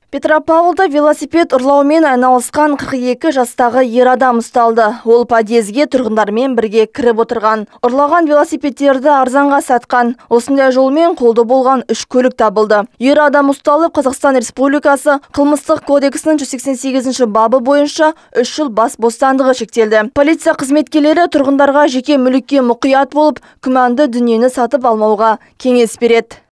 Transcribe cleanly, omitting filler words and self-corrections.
Петропавлда велосипед ұрлаумен айналысқан 42 жастағы ер адам ұсталды. Ол подъезге тұрғындармен бірге кіріп отырған. Ұрлаған велосипедтерді арзанға сатқан. Осындай жолмен қолды болған 3 көлік табылды. Ер адам ұсталып, Қазақстан Республикасы қылмыстық кодексінің 188 бабы бойынша 3 жыл бас бостандығы шектелді. Полиция қызметкерлері тұрғындарға жеке мүлікке мұқият болып, күмәнді дүниені сатып алмауға кеңес береді.